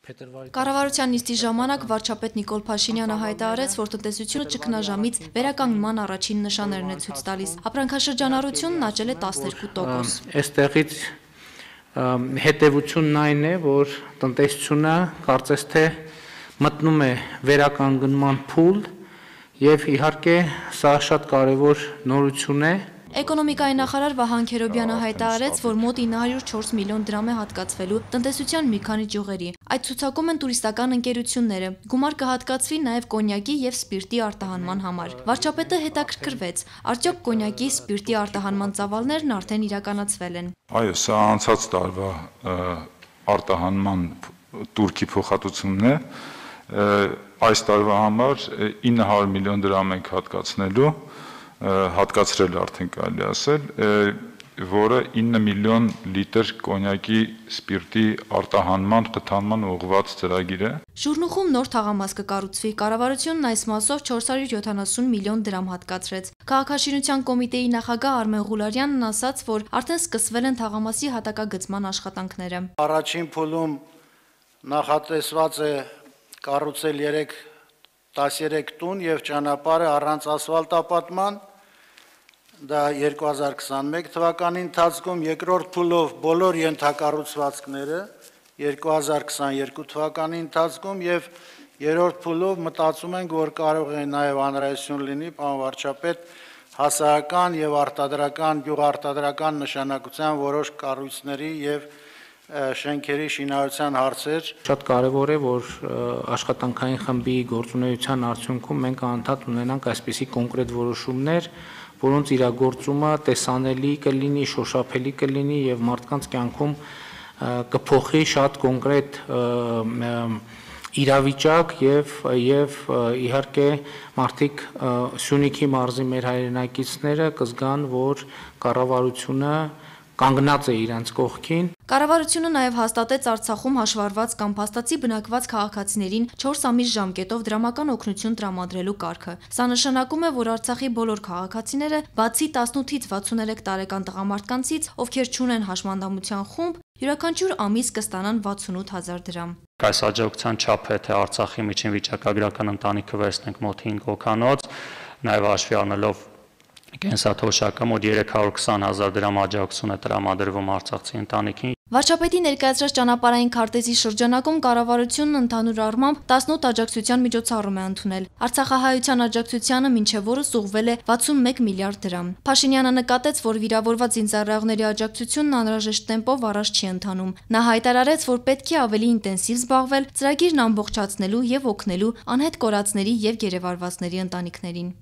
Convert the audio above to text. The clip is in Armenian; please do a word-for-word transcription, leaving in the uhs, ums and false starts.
Կառավարության նիստի ժամանակ վարչապետ Նիկոլ Փաշինյանը հայտարարեց, որ տնտեսությունը ճգնաժամից վերականգնման առաջին նշաններն է ցույց տալիս։ Ապրանքաշրջանառությունն աճել է տասներկու տոկոս։ Այստեղից հետևությունն այն է, որ տնտեսությունը կարծես թե մտնում է վերականգնման փուլ եւ իհարկե սա շատ կարեւոր նորություն է։ Էկոնոմիկայի նախարար Վահան Քերոբյանը հայտարարեց, որ մոտ ինը հարյուր չորս միլիոն դրամ է հատկացվելու տնտեսության մի քանի ճյուղերի։ Այդ ցուցակում են տուրիստական ընկերությունները։ Գումար կհատկացվի նաև կոնյակի եւ սպիրտի արտահանման համար։ Վարչապետը հետաքրքրվեց, արդյոք կոնյակի սպիրտի արտահանման ծավալներն արդեն իրականացվել են։ Այո, սա անցած տարվա արտահանման турքի փոխհատուցումն է։ Այս տարվա համար ինը հարյուր միլիոն դրամ ենք հատկացնելու, հատկացրել արդեն կարելի ասել, որը ինը միլիոն լիտր կոնյակի սպիրտի արտահանման խթանման ուղղված ծրագիր է։ Շուռնուխում նոր թաղամաս կկառուցվի, կառավարությունն այս մասով չորս հարյուր յոթանասուն միլիոն դրամ հատկացրեց։ Քաղաքաշինության կոմիտեի նախագահ Արմեն Ղուլարյանն ասաց, որ արդեն սկսվել են թաղամասի հատակագծման աշխատանքները։ Առաջին փուլում նախատեսված է կառուցել երեք տասներեք տուն եւ ճանապարհը առանց ասֆալտապատման, դա երկու հազար քսանմեկ թվականի ընթացքում, երկրորդ փուլով բոլոր ենթակառուցվածքները երկու հազար քսաներկու թվականի ընթացքում եւ երրորդ փուլով մտածում ենք, որ կարող է նաեւ անհրաժեշտություն լինի, պարոն վարչապետ, հասարակական եւ արտադրական, գյուղարտադրական նշանակության որոշ կառույցների եւ շենքերի շինարարության հարցեր։ Շատ կարևոր է, որ աշխատանքային խմբի գործունեության արդյունքում մենք անդադ ունենանք այսպիսի կոնկրետ որոշումներ, որոնց իրագործումը տեսանելի կլինի, շոշափելի կլինի եւ մարդկանց կյանքում կփոխի շատ կոնկրետ իրավիճակ եւ եւ իհարկե մարդիկ Սյունիքի մարզի մեր հայրենակիցները կզգան, որ կառավարությունը կանգնած է իրենց կողքին։ Կառավարությունը նաև հաստատեց Արցախում հաշվառված կամ փաստացի բնակված քաղաքացիներին չորս ամիս ժամկետով դրամական օգնություն տրամադրելու կարգը։ Սա նշանակում է, որ Արցախի բոլոր քաղաքացիները, բացի տասնութից վաթսուներեք տարեկան տղամարդկանցից, ովքեր չունեն հաշմանդամության խումբ, յուրաքանչյուր ամիս կստանան վաթսունութ հազար դրամ։ Այս աջակցության չափը թե Արցախի միջին վիճակագրական ընտանիքը վերցնենք մոտ հինգ հոգանոց, նաև հաշվի առնելով կենսաթոշակը մոտ երեք հարյուր քսան հազար դրամ աջակցություն է տրամադրվում արցախցի ընտանիքին։ Վարչապետի ներկայացրած ճանապարհային քարտեզի շրջանակում կառավարությունն ընդհանուր առմամբ տասնութ աջակցության միջոցառում է ընդունել։ Արցախահայության աջակցությանը մինչև օրս ուղղվել է վաթսունմեկ միլիարդ դրամ։ Փաշինյանը նկատեց, որ վիրավորված զինծառայողների աջակցությունն անհրաժեշտ տեմպով առաջ չի ընթանում։ Նա հայտարարեց, որ պետք է ավելի ինտենսիվ զբաղվել ծրագիրն ամբողջացնելու եւ օգնելու անհետ կորածների եւ գերեվարվածների ընտանիքներին։